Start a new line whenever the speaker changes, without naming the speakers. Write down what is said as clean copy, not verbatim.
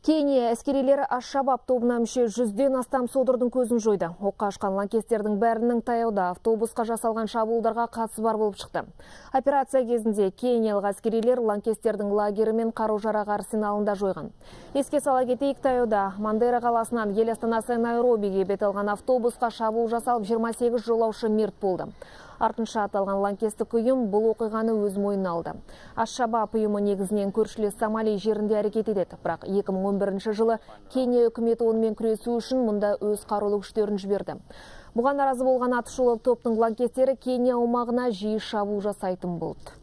Кения әскерилері Аш-Шабаб тобына мүше 100-ден астам содырдың көзін жойды. Оққа ашқан лаңкестердің бәрінің таяуда автобусқа жасалған шабуылдарға қатысы бар болып шықты. Операция кезінде кениялық әскерилер лаңкестердің лагері мен қару-жарақ арсеналында жойған. Еске сала кетейік, таяуда Мандера қаласынан ел астанасы Найробиге бет алған автобусқа шабуыл жасалып 28 жолаушы мерт болды. Артынша аталған лаңкестік ұйым бұл оқиғаны өз мойнына алды. Аш-Шабаб ұйымы негізінен көршілес Сомали жерінде әрекет етеді. Бірақ 2011 жылы Кения үкіметі онымен күресу үшін мұнда өз қарулы күштерін жіберді. Бұған наразы болған атышулы топтың лаңкестері Кения аумағына жиі шабуыл жасайтын болды.